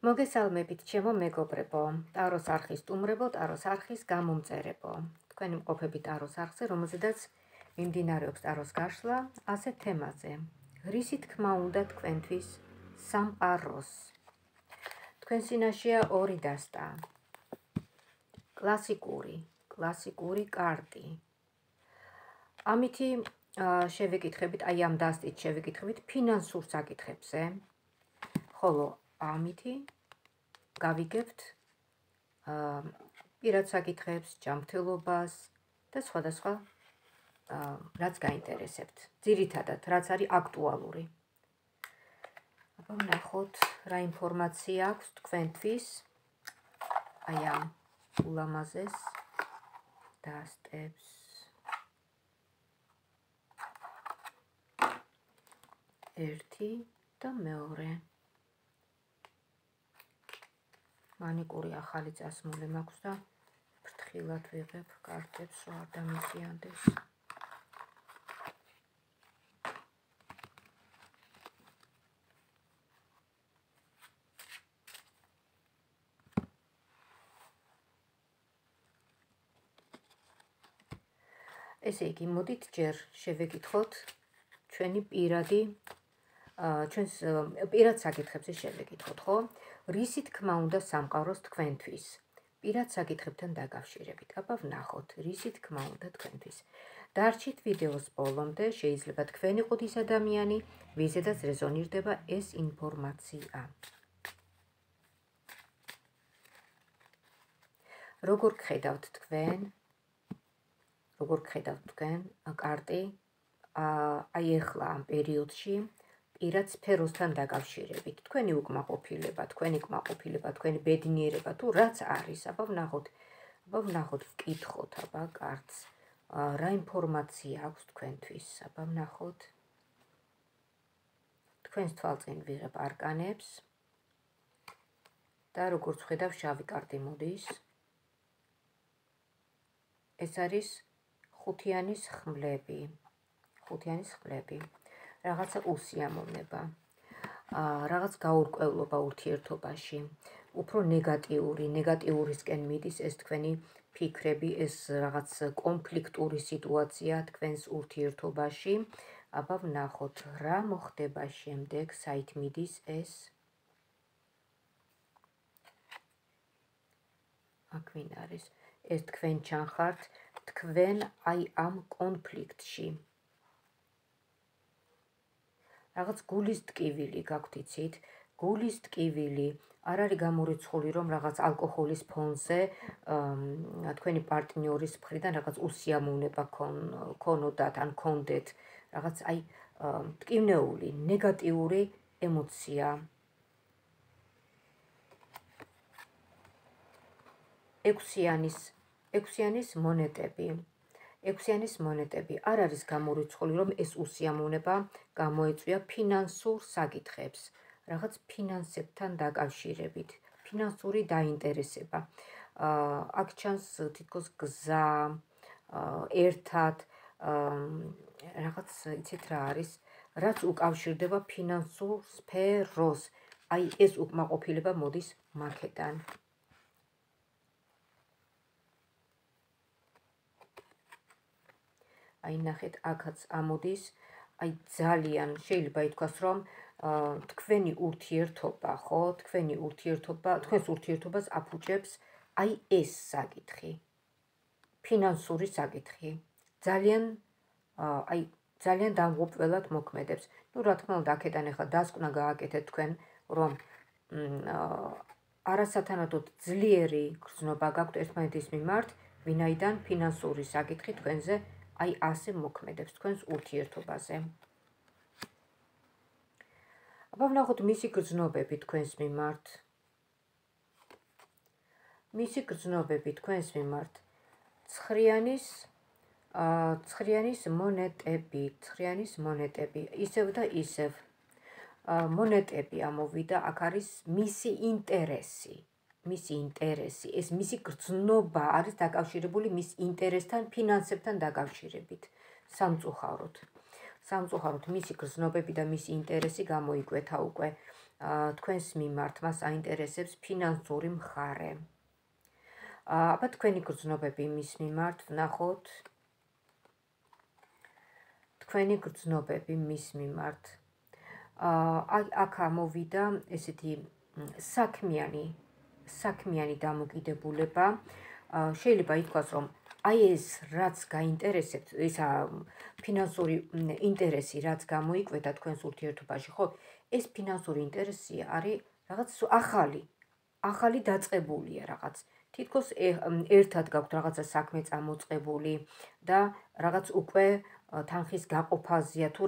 მოგესალმებით, ჩემო მეგობრებო, ტაროს არხის სტუმრებო, ტაროს არხის გამომწერებო. თქვენი მყოფები ტაროს არხზე, რომელზედაც მიმდინარეობს ტაროს გაშლა, ასეთ თემაზე. რისი თქმა უნდა თქვენთვის სამყაროს. თქვენ წინაშეა ორი დასტა. კლასიკური კარტი. ამითი შევეკითხებით, აი ამ დასტით შევეკითხებით ფინანსურ საკითხებზე, ხოლო ამითი გავიგებთ პირად საკითხებს, ჯანმრთელობას და სხვადასხვა რაც გაინტერესებთ. ძირითადად, რაც არის აქტუალური. აბა ვნახოთ, რა ინფორმაცია აქვს თქვენთვის აი ამ ულამაზეს დასტებს. ერთი და მეორე. მანიკური ახალი წასმული მაქვს და ფრთხილად ვიღებ კარტებს, რომ არ დამიზიანდეს. ესე იგი, მოდით ჯერ შევეკითხოთ ჩვენი ჩვენს პირად საკითხებზე შევეკითხოთ, ხო? რისი თქმა უნდა სამყაროს თქვენთვის? პირად საკითხებთან დაკავშირებით. აბა ვნახოთ, რისი თქმა უნდა თქვენთვის. დარჩით ვიდეოს ბოლომდე, შეიძლება თქვენ იყოთ ის ადამიანი, ვიზედაც რეზონირდება ეს ინფორმაცია. როგორ გხედავთ თქვენ კარტი აი ეხლა ამ პერიოდში პირად სფეროსთან დაკავშირებით. თქვენი უკმაყოფილება, თქვენი ბედნიერება თუ რაც არის, აბა ვნახოთ, ვკითხოთ აბა კარტს. რა ინფორმაცია აქვს თქვენთვის? აბა ვნახოთ. თქვენს თვალწინ ვიღებ არკანებს და როგორც ვხედავ, შავი კარტი მოდის. ეს არის ხუთიანის ხმლები. რაღაცა უსიამოვნება, რაღაც გაურკვევლობა ურთიერთობაში, უფრო ნეგატიურისკენ მიდის ეს თქვენი ფიქრები, ეს რაღაც კონფლიქტური სიტუაცია თქვენს ურთიერთობაში. აბა ვნახოთ, რა მოხდება შემდეგ, საით მიდის ეს. აქ ვინ არის? ეს თქვენ ჩანხართ, თქვენ აი ამ კონფლიქტში. რაღაც გულის ტკივილი გაქვთ, იცით? გულის ტკივილი არ არის გამორიცხული, რომ რაღაც ალკოჰოლის ფონზე თქვენი პარტნიორის მხრიდან რაღაც უსიამოვნება ქონოდათ ან ქონდეთ. რაღაც აი ტკივნეული, ნეგატიური ემოცია. ექვსიანის მონეტები არ არის გამორიცხული, რომ ეს უსიამოვნება გამოეწვია ფინანსურ საკითხებს, რაღაც ფინანსებთან დაკავშირებით, ფინანსური დაინტერესება. აქ ჩანს თითქოს გზა, ერთად, რაღაც იცით რა არის, რაც უკავშირდება ფინანსურ სფეროს. აი ეს უკმაყოფილება მოდის მაქედან. აი ნახეთ, აქაც ამოდის, აი ძალიან შეიძლება ითქვას, რომ თქვენი ურთიერთობა, ხო, თქვენს ურთიერთობას აფუჭებს აი ეს საკითხი, ფინანსური საკითხი. ძალიან დამღუპველად მოქმედებს. ნუ რა თქმა უნდა, აქედან ახლა დასკვნა გააკეთეთ თქვენ, რომ არასათანადოდ ძლიერი გრძნობა გაქვთ ერთმანეთის მიმართ, ვინაიდან ფინანსური საკითხი თქვენზე აი ასე მოქმედებს თქვენს ურთიერთობაზე. აბა ვნახოთ მისი გრძნობები თქვენს მიმართ. ცხრიანის მონეტები, ისევ და ისევ. მონეტები ამოვიდა, აქ არის მისი ინტერესი. ეს მისი გრძნობა არის დაკავშირებული მის ინტერესთან, ფინანსებთან დაკავშირებით, სამწუხაროდ. სამწუხაროდ მისი გრძნობები და მისი ინტერესი გამოიკვეთა უკვე თქვენს მიმართ, მას აინტერესებს ფინანსური მხარე. აბა თქვენი გრძნობები მის მიმართ ვნახოთ. თქვენი გრძნობები მის მიმართ. აქ ამოვიდა ესეთი საქმიანი დამოკიდებულება. შეიძლება ითქვას, რომ აი ეს რაც გაინტერესებთ, ისა ფინანსური ინტერესი რაც გამოიკვეთა თქვენს ურთიერთობაში, ხო? ეს ფინანსური ინტერესი არის რაღაც ახალი დაწყებულია რაღაც. თითქოს ერთად გაქვთ რაღაცა საქმე წამოწყებული და რაღაც უკვე თანხის გაყოფაზეა თუ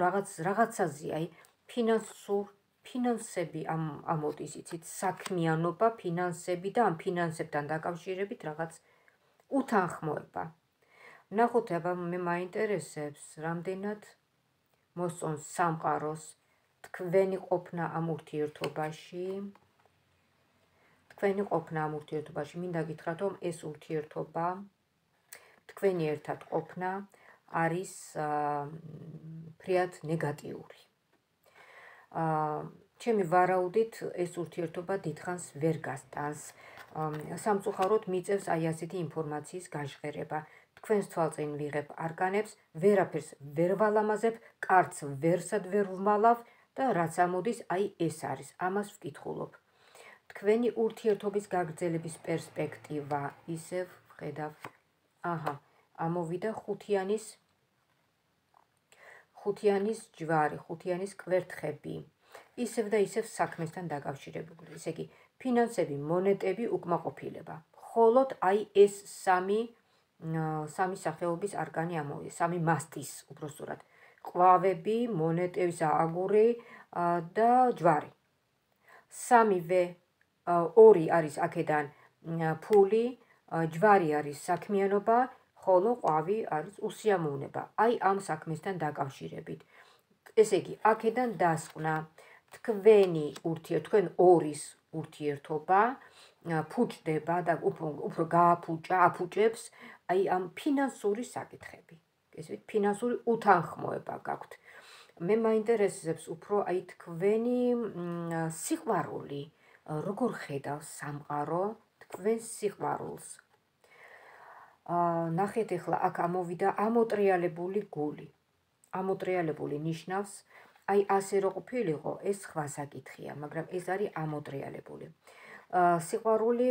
რაღაცაზეა, აი ფინანსები ამოდის, იცით, საქმიანობა, ფინანსები და ამ ფინანსებთან დაკავშირებით რაღაც უთანხმოება. ნახოთ, აბა მე მაინტერესებს, რამდენად მოსწონს სამყაროს თქვენი ყოფნა ამ ურთიერთობაში. მინდა გითხრათ, რომ ეს ურთიერთობა, თქვენი ერთად ყოფნა არის ფრიად ნეგატიური. ჩემი ვარაუდით ეს ურთიერთობა დიდხანს ვერ გასტანს. სამწუხაროდ მიწევს აი ასეთი ინფორმაციის გაჟღერება. თქვენს თვალწინ ვიღებ არკანებს, ვერაფერს ვერ ვალამაზებ, კარც ვერსად ვერ ვმალავ და რაც ამოდის, აი ეს არის. ამას ვკითხულობ. თქვენი ურთიერთობის გაგრძელების პერსპექტივა, ისევ ვხედავ. ამოვიდა ხუთიანის ჯვარი, ხუთიანის კვერთხები. ისევ და ისევ საქმესთან დაკავშირებული. ესე იგი, ფინანსები, მონეტები, უკმაყოფილება. მხოლოდ აი ეს სამი სახეობის არკანი ამოვიდა, სამი მასტის უბრალოდ. ყვავები, მონეტების აგური და ჯვარი. სამივე, ორი არის აქედან ფული, ჯვარი არის საქმიანობა, ხოლო ყვავი არის უსიამოვნება. აი ამ საქმესთან დაკავშირებით. ესე იგი, აქედან დასკვნა თქვენ ორის ურთიერთობა ფუჭდება და უფრო აფუჭებს აი ამ ფინანსური საკითხები. ესე ფინანსური უთანხმოება გაქვთ. მე მაინტერესებს უფრო აი თქვენი სიყვარული, როგორ ხედავს სამყარო თქვენს სიყვარულს. ნახეთ ახლა აქ ამოვიდა ამოტრიალებული გული. ამოტრიალებული ნიშნავს, აი ასე რო ყოფილიყო, ეს სხვა საკითხია, მაგრამ ეს არის ამოტრიალებული. სიყვარული,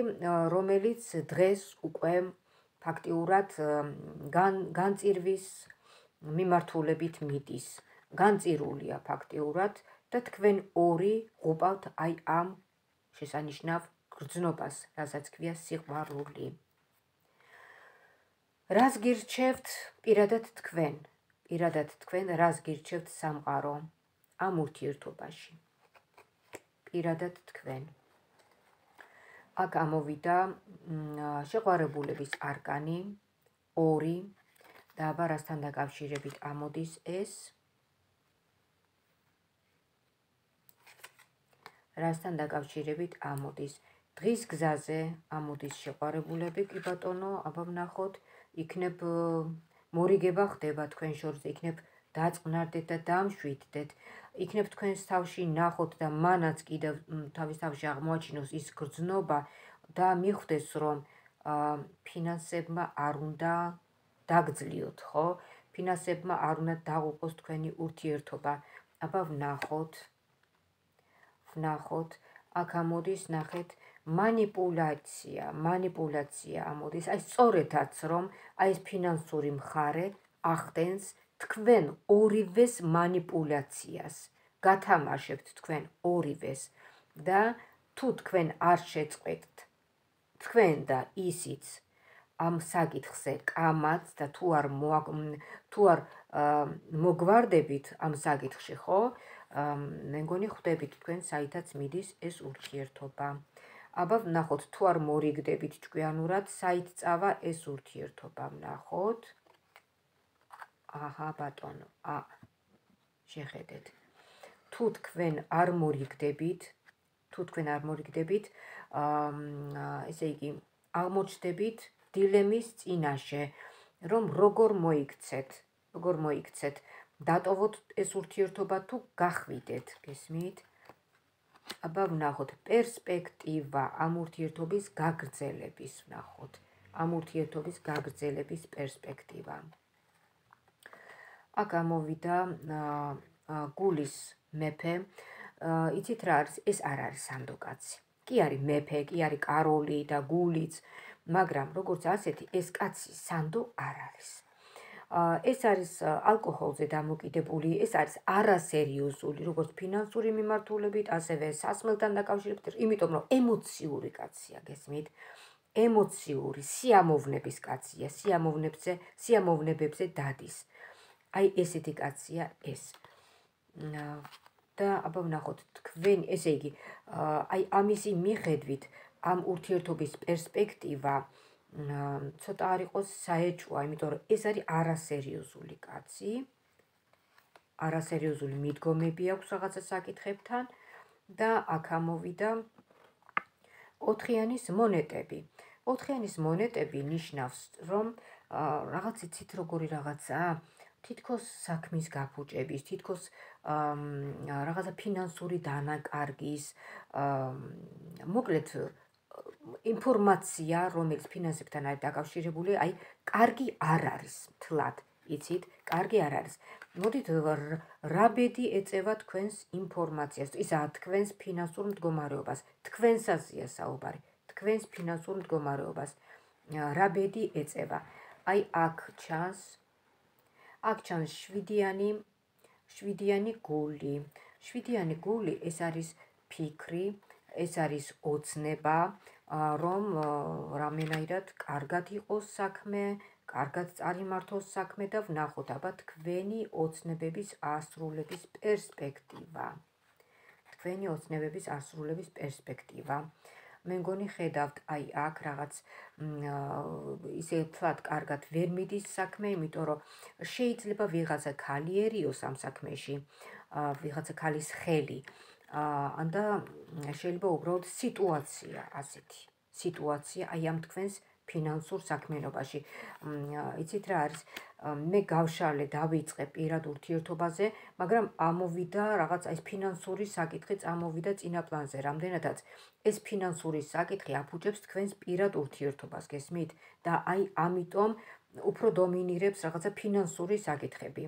რომელიც დღეს უკვე ფაქტიურად განწირვის მიმართულებით მიდის. განწირულია ფაქტიურად და თქვენ ორი ღუპავთ აი ამ შესანიშნავ გრძნობას, რასაც ქვია სიყვარული. რას გირჩევთ პირადად თქვენ, რას გირჩევთ სამყარო ამ ურთიერთობაში. პირადად თქვენ. აქ ამოვიდა შეყვარებულების არკანი, 2 და აბა რასთან დაკავშირებით ამოდის ეს. რასთან დაკავშირებით ამოდის. დღის გზაზე ამოდის შეყვარებულები, კი ბატონო, აბა ვნახოთ, იქნებ მორიგება ხდება თქვენ შორს, იქნებ დაწყნარდეთ და დამშვიდდეთ, იქნებ თქვენს თავში ნახოთ და მანაც კიდევ თავის თავში აღმოაჩინოს ის გრძნობა და მიხვდეს, რომ ფინანსებმა არ უნდა დაგძლიოთ, ხო? ფინანსებმა არ უნდა დაღუპოს თქვენი ურთიერთობა. აბა ვნახოთ, აქ ამოდის, ნახეთ, მანიპულაცია ამოდის, აი სწორედაც, რომ აი ეს ფინანსური მხარე ახდენს თქვენ ორივეს მანიპულაციას. გათამაშებთ თქვენ ორივეს და თუ თქვენ არ შეწყვეტთ თქვენ და ისიც ამ საკითხზე კამაც და თუ არ მოგვარდებით ამ საკითხში, ხო? მე მგონი ხვდებით თქვენ საითაც მიდის ეს ურთიერთობა. აბა ვნახოთ, თუ არ მორიგდებით ჭკვიანურად, საით წავა ეს ურთიერთობა, ვნახოთ. აჰა, ბატონო, შეხედეთ. თუ თქვენ არ მორიგდებით, ესე იგი, აღმოჩნდებით დილემის წინაშე, რომ როგორ მოიქცეთ დატოვოთ ეს ურთიერთობა თუ გახვიდეთ, გესმით? აბა ვნახოთ პერსპექტივა ამ ურთიერთობის გაგრძელების, ვნახოთ ამ ურთიერთობის გაგრძელების პერსპექტივა. აქ ამოვიდა გულის მეფე, იცით რა არის? ეს არ არის სანდო კაცი. კი არის მეფე, კი არის კაროლი და გულიც, მაგრამ როგორც ასეთი ეს კაცი სანდო არ არის. ეს არის ალკოჰოლზე დამოკიდებული, ეს არის არასერიოზული, როგორც ფინანსური მიმართულებით, ასევე სასმელთან დაკავშირებით, იმიტომ რომ ემოციური კაცია, გესმით? ემოციური, სიამოვნების კაცია, სიამოვნებებზე დადის. აი ესეთი კაცია ეს. და აბა ვნახოთ თქვენ, ესე იგი, აი ამისი მიხედვით ამ ურთიერთობის პერსპექტივა ცოტა არ იყოს საეჭვო, იმიტომ რომ ეს არის არასერიოზული კაცი, არასერიოზული მიდგომები აქვს რაღაცა საკითხებთან და აქ ამოვიდა 4-იანის მონეტები. 4-იანის მონეტები ნიშნავს, რომ რაღაც იცით როგორი რაღაცაა, თითქოს საქმის გაფუჭების, თითქოს რაღაცა ფინანსური დანაკარგის, მოკლედ ინფორმაცია, რომელიც ფინანსებთან არის დაკავშირებული, აი, კარგი არ არის, თლად, იცით, კარგი არ არის. მოდით რა ბედი ეწევა თქვენს ინფორმაციას, ისაა თქვენს ფინანსურ მდგომარეობას, თქვენსაზეა საუბარი, თქვენს ფინანსურ მდგომარეობას, რა ბედი ეწევა. აი, აქ ჩანს 7-იანი გული. 7-იანი გული ეს არის ფიქრი, ეს არის ოცნება, რომ რამენაირად კარგად იყოს საქმე, კარგად წარიმართოს საქმე და ვნახოთ აბა თქვენი ოცნებების ასრულების პერსპექტივა. თქვენი ოცნებების ასრულების პერსპექტივა. მე მგონი ხედავთ, აი აქ რაღაც ისე თლად კარგად ვერ მიდის საქმე, იმიტომ რომ შეიძლება ვიღაცა ქალიერიოს ამ საქმეში, ვიღაცა ქალის ხელი, და შეიძლება უბრალოდ სიტუაცია ასეთი, სიტუაცია აი ამ თქვენს ფინანსურ საქმიანობაში. იცით რა არის? მე გავშალე, დავიწყე პირად ურთიერთობაზე, მაგრამ ამოვიდა რაღაც ეს ფინანსური საკითხი წამოვიდა წინა პლანზე, რამდენადაც ეს ფინანსური საკითხი აფუჭებს თქვენს პირად ურთიერთობას, გესმით? და აი ამიტომ უფრო დომინირებს რაღაცა ფინანსური საკითხები.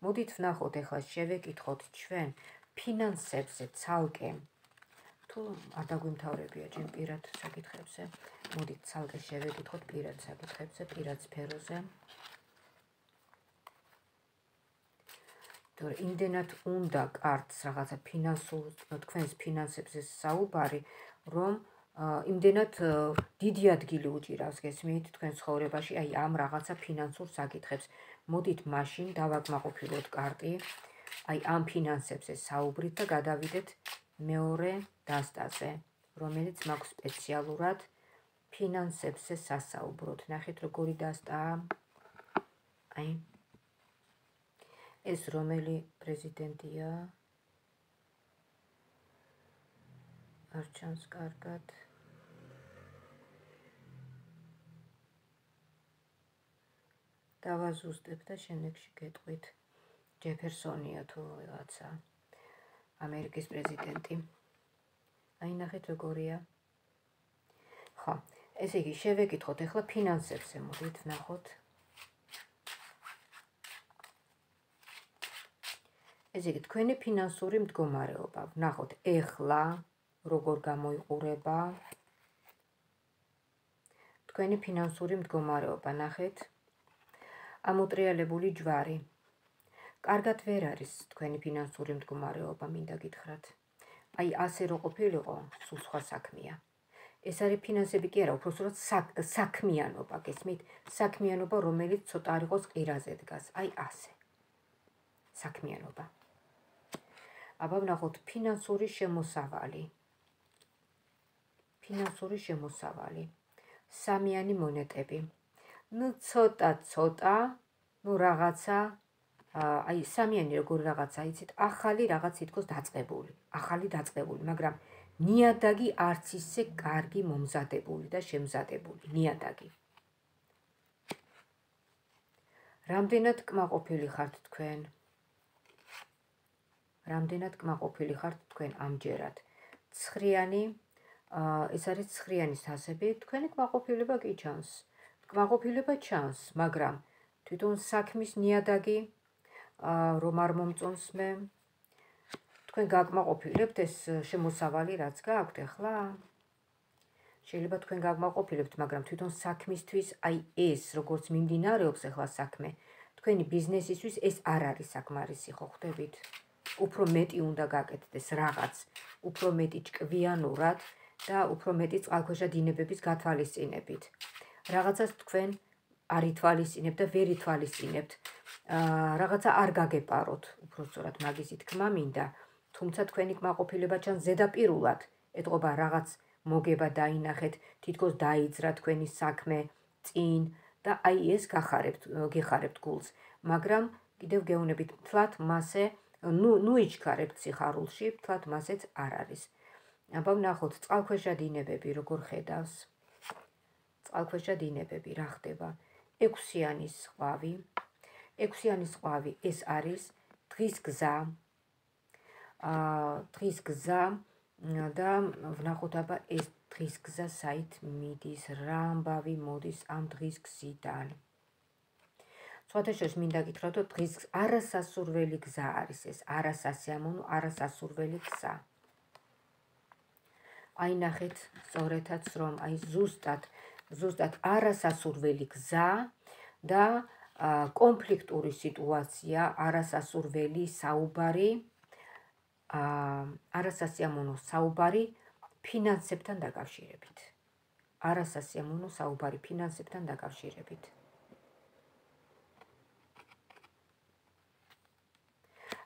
მოდით ვნახოთ, ეხლა შევეკითხოთ ჩვენ ფინანსებზე ცალკე, თუ არ დაგვიმთავრებია ჯერ პირად საკითხებზე, მოდით ცალკე შევეკითხოთ პირად საკითხებზე, პირად სფეროზე. თორე იმდენად უნდა კარგს რაღაცა თქვენს ფინანსებზე საუბარი, რომ იმდენად დიდი ადგილი უჭირავს, გესმით, თქვენ ცხოვრებაში, აი ამ რაღაცა ფინანსურ საკითხებს. მოდით მაშინ დავაკმაყოფილოთ კარტი, აი ამ ფინანსებზე საუბრით და გადავიდეთ მეორე დასტაზე, რომელიც მაქვს სპეციალურად ფინანსებზე სასაუბროთ. ნახეთ როგორი დასტაა. აი ეს რომელი პრეზიდენტია? არ ჩანს კარგად. დავაზუსტებ და შემდეგში გეტყვით. ჯეფერსონია თუ რაღაცა, ამერიკის პრეზიდენტი. აი ნახეთ როგორია. ხო, ესე იგი შევეკითხოთ ახლა ფინანსებზე, მოდით ვნახოთ. ესე იგი თქვენი ფინანსური მდგომარეობა, ვნახოთ ეხლა როგორ გამოიყურება. თქვენი ფინანსური მდგომარეობა, ნახეთ. ამოტრიალებული ჯვარი. კარგად ვერ არის თქვენი ფინანსური მდგომარეობა, მინდა გითხრათ. აი ასე რო ყოფილიყო, სულ სხვა საქმეა. ეს არის ფინანსები კი არა, უпроსტოდ საქმიანობა, გესმით? საქმიანობა, რომელიც ცოტა არ იყოს ყირაზე დგას. აი ასე. საქმიანობა. აბა ვნახოთ ფინანსური შემოსავალი. ფინანსური შემოსავალი. 3-იანი მონეტები. ნუ ცოტა, ნუ რაღაცა, აი 3-იანი როგორ რაღაცა, იცით, ახალი რაღაც თითქოს დაწყებული, მაგრამ ნიადაგი არც ისე კარგი მომზადებული და შემზადებული, ნიადაგი. რამდენად კმაყოფილი ხართ თქვენ? რამდენად კმაყოფილი ხართ თქვენ ამჯერად. ცხრიანი, ეს არის ცხრიანის თასები, თქვენი კმაყოფილება კი ჩანს. კმაყოფილება ჩანს, მაგრამ თვითონ საქმის ნიადაგი რომ არ მომწონს მე, თქვენ გაკმაყოფილებთ ეს შემოსავალი რაც გაქვთ ახლა? შეიძლება თქვენ გაკმაყოფილებთ, მაგრამ თვითონ საქმისთვის აი ეს როგორც მიმდინარეობს ახლა საქმე, თქვენი ბიზნესისთვის ეს არ არის საკმარისი, ხო ხვდებით? უფრო მეტი უნდა გაკეთდეს რაღაც, უფრო მეტი ჭკვიანურად და უფრო მეტი წყალქვეშა დინებების გათვალისწინებით. რაღაცას თქვენ არ ითვალისწინებთ და ვერ ითვალისწინებთ. რაღაცა არ გაგეპაროთ, უფრო სწორად მაგისი თქმა მინდა, თუმცა თქვენი კმაყოფილება ჩანს ზედაპირულად, ეტყობა რაღაც მოგება დაინახეთ, თითქოს დაიძრა თქვენი საქმე წინ და აი ეს გეხარებთ გულს, მაგრამ კიდევ გეუბნებით, თლათ მასე ნუ იჩქარებთ სიხარულში, თლათ მასეც არ არის. აბა ვნახოთ წყალქვეშა დინებები როგორ ხედავს. წყალქვეშა დინებები რა ხდება? 6-იანის ყვავი. 6-იანის ყვავი ეს არის დღის გზა. დღის გზა და ვნახოთ აბა ეს დღის გზა საით მიდის, რა ამბავი მოდის ამ დღის გზიდან. სხვათა შორის მინდა გითხრათ, რომ დღის არასასურველი გზა არის ეს, არასასიამოვნო, არასასურველი გზა. აი ნახეთ სწორედაც რომ აი ზუსტად არასასურველი გზა და კონფლიქტური სიტუაცია, არასასურველი საუბარი, არასასიამოვნო საუბარი ფინანსებთან დაკავშირებით. არასასიამოვნო საუბარი ფინანსებთან დაკავშირებით.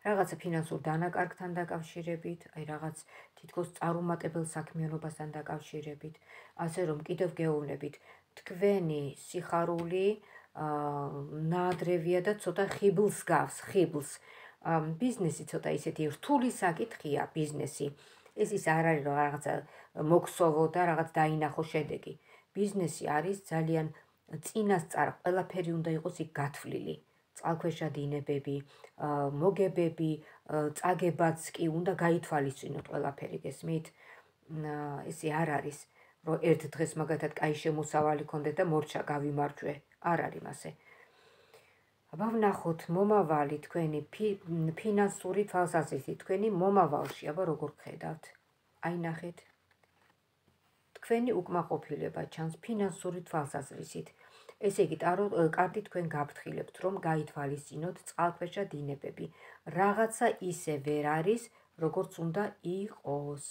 რაღაცა ფინანსურ დანაკარგთან დაკავშირებით, აი რაღაც თითქოს წარუმატებელ საქმიანობასთან დაკავშირებით, ასე რომ კიდევ გეუბნებით, თქვენი სიხარული ნაადრევია და ცოტა ხიბლს გავს, ხიბლს. ბიზნესი ცოტა ისეთი რთული საკითხია ბიზნესი. ეს ის არ არის რომ რაღაცა მოქსოვო და რაღაც დაინახო შედეგი. ბიზნესი არის ძალიან წინასწარ ყველაფერი უნდა იყოს იქ გათვლილი. წყალქვეშა დინებები, მოგებები, წაგებაც კი უნდა გაითვალისწინოთ ყველაფერი, გესმით? ესე არ არის, რომ ერთ დღეს მაგათად კაი შემოსავალი ქონდეთ და მორჩა გავიმარჯვე. არ არის მასე. აბა ვნახოთ მომავალი თქვენი ფინანსური თვალსაზრისით, თქვენი მომავალში, აბა როგორ ხედავთ? აი ნახეთ. თქვენი უკმაყოფილება ჩანს ფინანსური თვალსაზრისით. ესე იგი, ტარო კარტი თქვენ გაფრთხილებთ, რომ გაითვალისწინოთ წყალქვეშა დინებები. რაღაცა ისე ვერ არის, როგორც უნდა იყოს.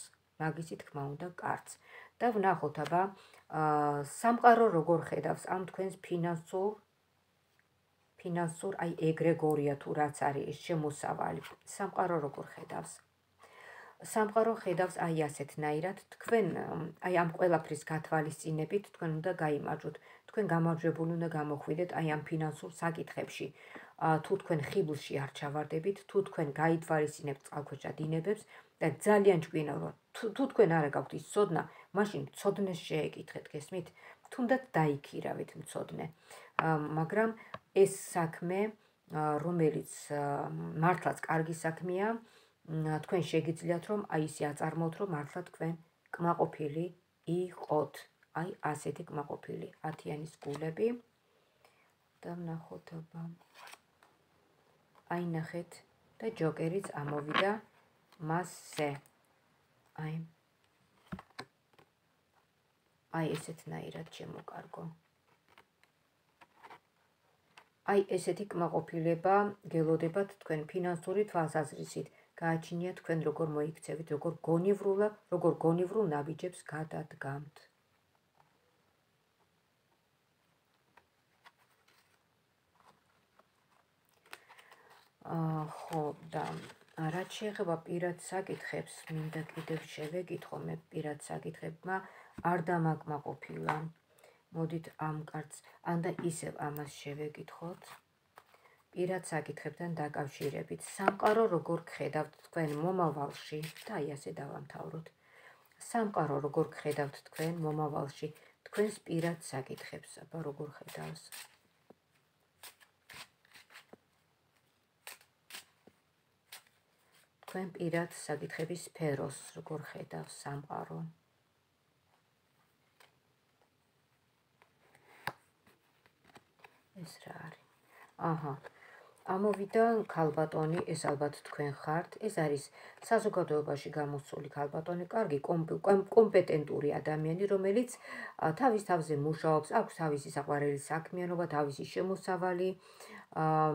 მაგისი თქმა უნდა კარტს. და ვნახოთ აბა სამყარო როგორ ხედავს ამ თქვენს ფინანსურ აი ეგრეგორია თუ რაც არის ეს შემოსავალი. სამყარო როგორ ხედავს? სამყარო ხედავს აი ასეთნაირად, თქვენ აი ამ ყველაფრის გათვალისწინებით თქვენ უნდა გაიმარჯვოთ. თქვენ გამარჯვებული უნდა გამოხვიდეთ აი ამ ფინანსურ საკითხებში. თუ თქვენ ხიბლში არ ჩავარდებით, თუ თქვენ გაითვალისწინებთ წყალქვეშა დინებებს და ძალიან ჭკვიანურად, თუ თქვენ არა გაქვთ ის ცოდნა, მაშინ ცოდნეს შეეკითხეთ, გესმით? თუნდაც დაიქირავით მცოდნე. მაგრამ ეს საქმე, რომელიც მართლაც კარგი საქმეა, თქვენ შეგიძლიათ რომ აი ისე აწარმოოთ, რომ მართლა თქვენ კმაყოფილი იყოთ. აი ასეთი კმაყოფილი 10-იანის გულები და ვნახოთ აბა. აი ნახეთ და ჯოკერიც ამოვიდა მასზე. აი ესეთნაირად შემოკარგო. აი ესეთი კმაყოფილება გელოდებათ თქვენ ფინანსური თვალსაზრისით. გააჩინიათ თქვენ როგორ მოიქცევით, როგორ გონივრულ ნაბიჯებს გადადგამთ. ხო და რაც შეეხება პირად საკითხებს, მინდა კიდევ შევეკითხო, მე პირად საკითხებმა არ დამაკმაყოფილა. მოდით ამ კარტს, ანდა ისევ ამას შევეკითხოთ. პირად საკითხებთან დაკავშირებით, სამყარო როგორ გხედავთ თქვენ მომავალში და აი ასე დავამთავროთ. სამყარო როგორ გხედავთ თქვენ მომავალში, თქვენს პირად საკითხებს, აბა როგორ ხედავს. თქვენ პირად საკითხების სფეროს, როგორ ხედავს სამყარო. ეს რა არის? აჰა. ამოვიდა ქალბატონი, ეს ალბათ თქვენ ხართ. ეს არის საზოგადოებაში გამოსული ქალბატონი, კარგი კომპეტენტური ადამიანი, რომელიც თავის თავზე მუშაობს, აქვს თავისი საყვარელი საქმიანობა, თავისი შემოსავალი,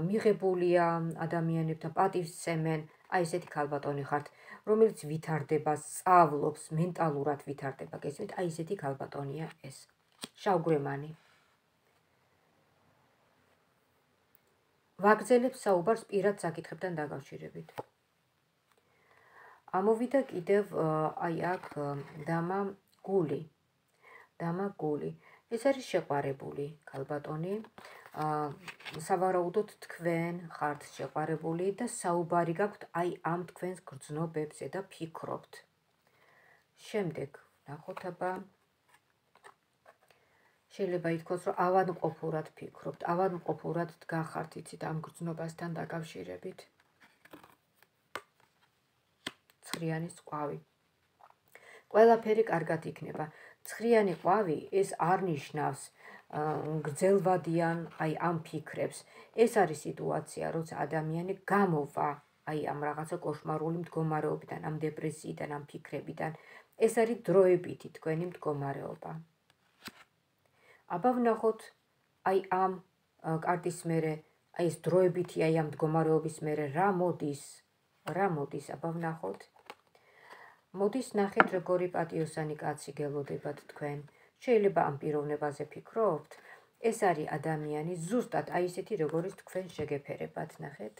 მიღებულია ადამიანებთან, პატივსცემენ, აი ესეთი ქალბატონი ხართ, რომელიც ვითარდება, სწავლობს, მენტალურად ვითარდება, გესმით, აი ესეთი ქალბატონია ეს. შავგვრემანი. ვაგრძელებს საუბარს პირად საკითხებთან დაკავშირებით. ამოვიდა კიდევ აი აქ დამა გული. ეს არის შეყვარებული ქალბატონი. სავარაუდოდ თქვენ ხართ შეყვარებული და საუბარი გაქვთ აი ამ თქვენს გრძნობებზე და ფიქრობთ. შემდეგ ნახოთ აბა შეიძლება ითქვას, რომ ავადმყოფურად ფიქრობთ, ავადმყოფურად დგახართ იცით ამ გრძნობასთან დაკავშირებით. ცხრიანის ყვავი. ყველაფერი კარგად იქნება. ცხრიანი ყვავი ეს არ ნიშნავს გრძელვადიან აი ამ ფიქრებს. ეს არის სიტუაცია, როცა ადამიანი გამოვა აი ამ რაღაცა კოშმარული მდგომარეობიდან, ამ დეპრესიიდან, ამ ფიქრებიდან. ეს არის დროებითი თქვენი მდგომარეობა. აბა ვნახოთ აი ამ კარტის მერე, აი ეს დროებითი აი ამ მდგომარეობის მერე რა მოდის, აბა ვნახოთ. მოდის ნახეთ როგორი პატიოსანი კაცი გელოდებათ თქვენ. შეიძლება ამ პიროვნებაზე ფიქრობთ, ეს არის ადამიანი ზუსტად აი ესეთი როგორიც თქვენ შეგეფერებათ, ნახეთ.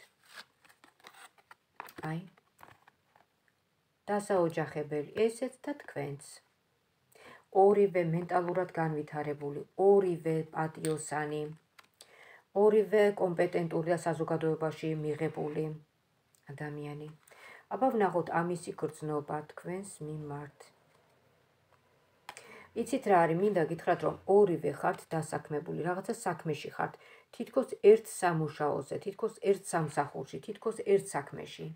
აი დასაოჯახებელი ესეც და თქვენც. ორივე მენტალურად განვითარებული, ორივე პატიოსანი, ორივე კომპეტენტური და საზოგადოებაში მიღებული ადამიანი. აბა ვნახოთ ამისი გრძნობა თქვენს მიმართ. იცით რა არის, მინდა გითხრათ, რომ ორივე ხართ დასაქმებული, რაღაცა საქმეში ხართ, თითქოს ერთ სამუშაოზე, თითქოს ერთ სამსახურში, თითქოს ერთ საქმეში.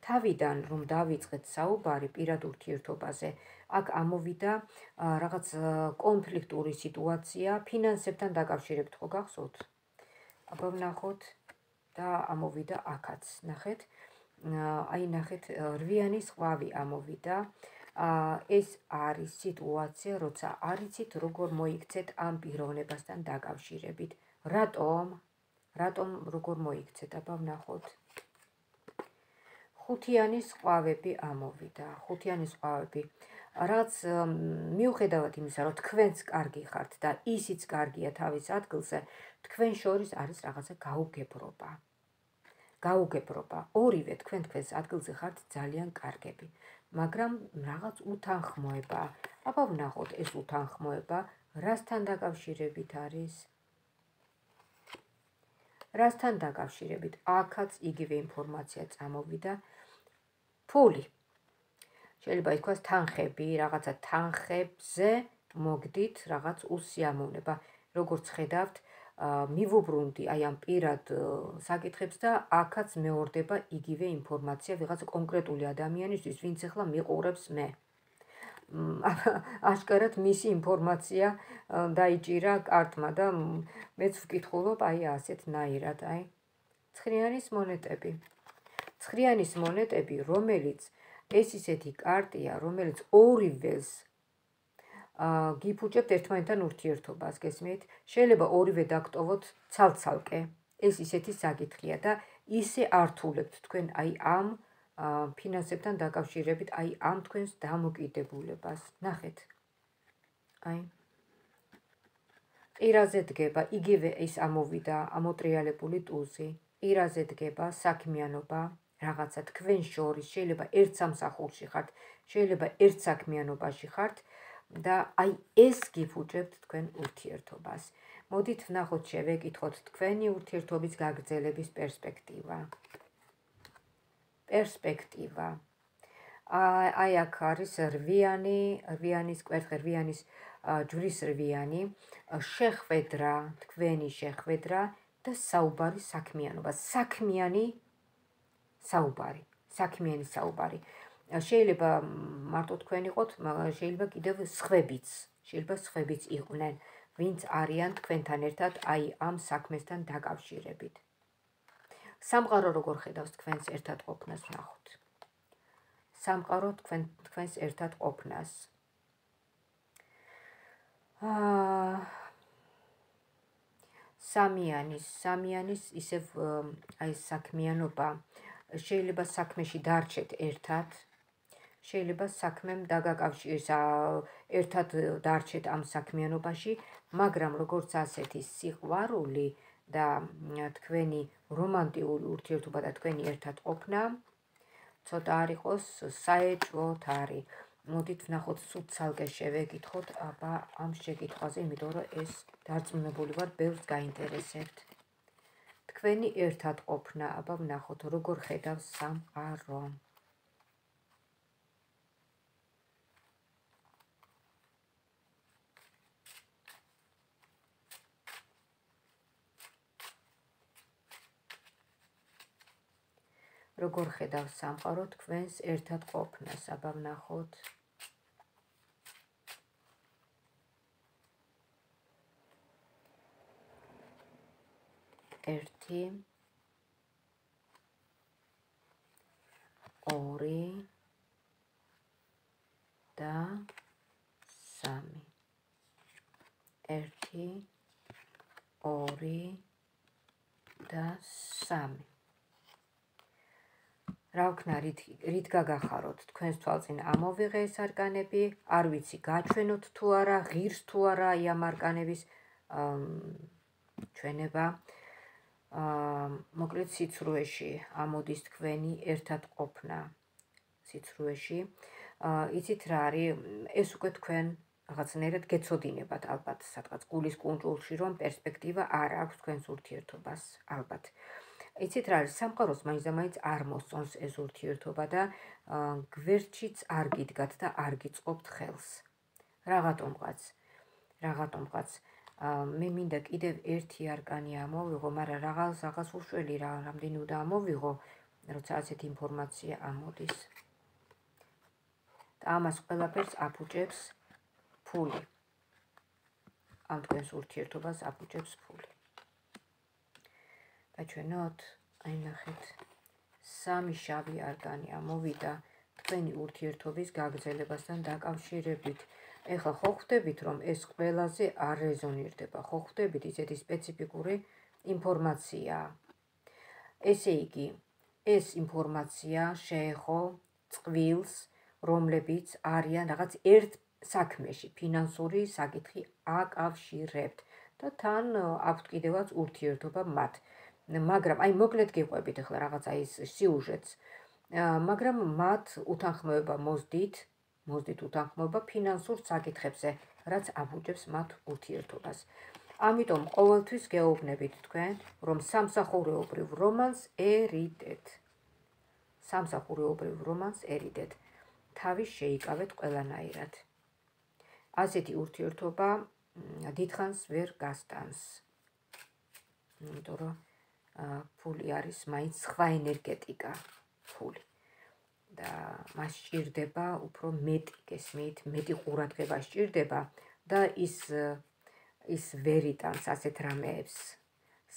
თავიდან რომ დავიწყეთ საუბარი პირად ურთიერთობაზე, აქ ამოვიდა რაღაც კონფლიქტური სიტუაცია ფინანსებთან დაკავშირებით, ხო გახსოვთ? აბა ვნახოთ და ამოვიდა აქაც, ნახეთ. აი ნახეთ, რვიანის ყვავი ამოვიდა. ეს არის სიტუაცია, როცა არ იცით როგორ მოიქცეთ ამ პიროვნებასთან დაკავშირებით. რატომ როგორ მოიქცეთ, აბა ვნახოთ. ხუთიანის ყვავები ამოვიდა. ხუთიანის ყვავები. რაც მიუხედავად იმისა, რომ თქვენც კარგი ხართ და ისიც კარგია თავის ადგილზე, თქვენ შორის არის რაღაცა გაუგებრობა. ორივე თქვენს ადგილზე ხართ ძალიან კარგები, მაგრამ რაღაც უთანხმოება. აბა ვნახოთ ეს უთანხმოება რასთან დაკავშირებით არის? რასთან დაკავშირებით? აქაც იგივე ინფორმაცია წამოვიდა. ფული. შეიძლება ითქვას თანხები, რაღაცა თანხებზე მოგდით რაღაც უსიამოვნება. როგორც ხედავთ, მივუბრუნდი აი ამ პირად საკითხებს და აქაც მეორდება იგივე ინფორმაცია ვიღაც კონკრეტული ადამიანისთვის, ვინც ახლა მიყურებს მე. აშკარად მისი ინფორმაცია დაიჭირა კარტმა და მეც ვკითხულობ აი ასეთნაირად, აი. ცხრიანის მონეტები. ცხრიანის მონეტები, რომელიც ეს ისეთი კარტია, რომელიც ორივეს გიფუჭებთ ერთმანეთთან ურთიერთობას, გესმით? შეიძლება ორივე დაგტოვოთ ცალ-ცალკე. ეს ისეთი საკითხია და ისე ართულებთ თქვენ აი ამ ფინანსებთან დაკავშირებით, აი ამ თქვენს დამოკიდებულებას. ნახეთ. აი. ყირაზე დგება, იგივე ის ამოვიდა, ამოტრიალებული ტუზი. ყირაზე დგება საქმიანობა, რაღაცა თქვენ შორის, შეიძლება ერთ სამსახურში ხართ, შეიძლება ერთ საქმიანობაში ხართ და აი ეს გიფუჭებთ თქვენ ურთიერთობას. მოდით ვნახოთ, შევეკითხოთ თქვენი ურთიერთობის გაგრძელების პერსპექტივა. აი აქ არის რვიანის კვერთხი, რვიანის ჯვრის რვიანი, შეხვედრა, თქვენი შეხვედრა და საუბარი საქმიანობა. საქმიანი საუბარი. საქმიანი საუბარი. შეიძლება მარტო თქვენ იყოთ, შეიძლება კიდევ სხვებიც იყვნენ, ვინც არიან თქვენთან ერთად აი ამ საქმესთან დაკავშირებით. სამყარო როგორ ხედავს თქვენს ერთად ყოფნას, ვნახოთ. სამყარო თქვენს ერთად ყოფნას. სამიანის ისევ აი საქმიანობა, შეიძლება საქმეში დარჩეთ ერთად, შეიძლება საქმემ ერთად დარჩეთ ამ საქმიანობაში, მაგრამ როგორც ასეთი სიყვარული და თქვენი რომანტიკული ურთიერთობა და თქვენი ერთად ყოფნა ცოტა არ იყოს საეჭვოთ არის. მოდით ვნახოთ სულ ცალკე შევეკითხოთ აბა ამ შეკითხვაზე, იმიტომ რომ ეს დარწმუნებული ვარ, ბევრს გაინტერესებთ. თქვენი ერთად ყოფნა, აბა ვნახოთ როგორ ხედავს სამყარო. როგორ ხედავს სამყარო თქვენს ერთად ყოფნას, აბა ვნახოთ. ერთი, ორი და სამი. ერთი, ორი და სამი. რა ვქნა, რით გაგახაროთ, თქვენს თვალწინ ამოვიღე ეს არკანები, არ ვიცი გაჩვენოთ თუ არა, ღირს თუ არა აი ამ არკანების ჩვენება. მოკლედ სიცრუეში ამოდის თქვენი ერთად ყოფნა. სიცრუეში. იცით რა არის, ეს უკვე თქვენ რაღაცნაირად გეცოდინებათ ალბათ სადღაც გულის კუნჭულში, რომ პერსპექტივა არ აქვს თქვენს ურთიერთობას, ალბათ. იცით რა არის, სამყაროს მაინც არ მოსწონს ეს ურთიერთობა და გვერდშიც არ გიდგათ და არ გიწყობთ ხელს. რაღაცომღაც მე მინდა კიდევ ერთი არკანი ამოვიღო, მაგრამ რაღაც უშველი რამდენი უნდა ამოვიღო, როცა ასეთი ინფორმაცია ამოდის. და ამას ყველაფერს აფუჭებს ფული. ამ თქვენს ურთიერთობას აფუჭებს ფული. გაჩვენოთ, აი ნახეთ, სამი შავი არკანი ამოვიდა თქვენი ურთიერთობის გაგრძელებასთან დაკავშირებით. ეხლა ხო ხვდებით, რომ ეს ყველაზე არ რეზონირდება, ხო ხვდებით, ისეთი სპეციფიკური ინფორმაციაა. ესე იგი, ეს ინფორმაცია შეეხო წყვილს, რომლებიც არიან რაღაც ერთ საქმეში, ფინანსური საკითხი აკავშირებთ და თან აქვთ კიდევაც ურთიერთობა მათ. მაგრამ აი მოკლედ გიყვებით ახლა რაღაცა ის სიუჟეტს, მაგრამ მათ უთანხმოება მოსდით უთანხმოება ფინანსურ საკითხებზე, რაც აფუჭებს მათ ურთიერთობას. ამიტომ ყოველთვის გეუბნებით თქვენ, რომ სამსახურეობრივ რომანს ერიდეთ. თავის შეიკავეთ ყველანაირად. ასეთი ურთიერთობა დიდხანს ვერ გასტანს. იმიტომ რომ ფული არის მაინც სხვა ენერგეტიკა, ფული. და მას სჭირდება უფრო მეტი, გესმით, მეტი ყურადღება სჭირდება და ის ვერ იტანს ასეთ რამეებს.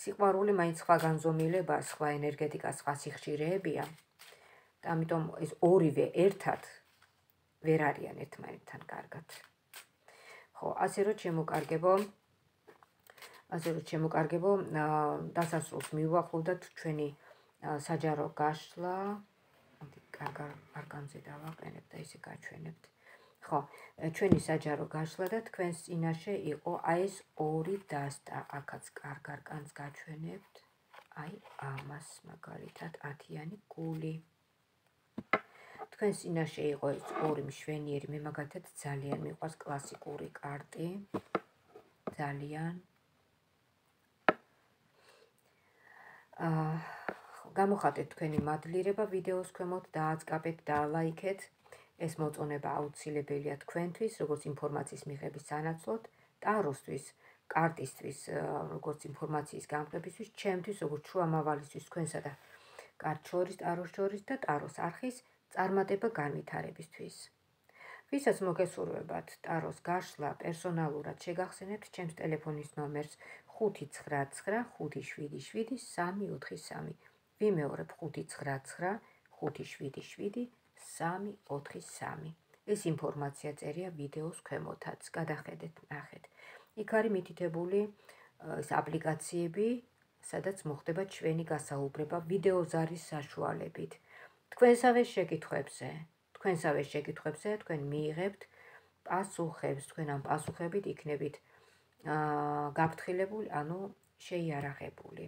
სიყვარული მაინც სხვა განზომილება, სხვა ენერგეტიკა, სხვა სიხშირეებია. და ამიტომ ეს ორივე ერთად ვერ არიან ერთმანეთთან კარგად. ხო, ასე რომ შემოკარგებო, დასასრულს მივუახლოვდათ ჩვენი საჯარო გაშლა. კარგ არკანზე დავაყენებ და ისე გაჩვენებთ. ხო, ჩვენი საჯარო გაშლა და თქვენს წინაშე იყო აი ეს ორი დასტა, აქაც კარგ არკანს გაჩვენებთ. აი ამას მაგალითად 10-იანი გული. თქვენს წინაშე იყო ეს ორი მშვენიერი, მე მაგალითად ძალიან მიყვარს კლასიკური კარტი. ძალიან გამოხატეთ თქვენი მადლიერება ვიდეოს ქვემოთ, დააწყაბეთ, დაალაიქეთ. ეს მოწონება აუცილებელია თქვენთვის, როგორც ინფორმაციის მიღების სანაცვლოდ, ტაროსთვის, კარტისთვის, როგორც ინფორმაციის გამყებისთვის, ჩემთვის, როგორც შუამავალისთვის, თქვენსა და კართ შორის, ტაროს შორის და ტაროს არხის წარმატება განვითარებისთვის. ვისაც მოგესურვებათ ტაროს გაშლა, პერსონალურად შეგახსენებთ ჩემს ტელეფონის ნომერს 599577343. ვიმეორებ 599577343. ეს ინფორმაცია წერია ვიდეოს ქვემოთაც, გადახედეთ, ნახეთ. იქ არის მითითებული ეს აპლიკაციები, სადაც მოხდება ჩვენი გასაუბრება ვიდეოზარის საშუალებით. თქვენ თქვენ მიიღებთ პასუხებს, თქვენ ამ პასუხებით იქნებით გაფრთხილებული, ანუ შეიარაღებული.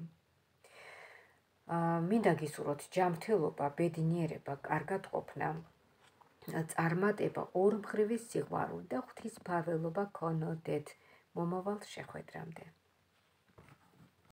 მინდა გისურვოთ ჯანმრთელობა, ბედნიერება, კარგად ყოფნა, წარმატება, ორმხრივი სიყვარული და ღვთისმფარველობა გქონოდეთ მომავალ შეხვედრამდე.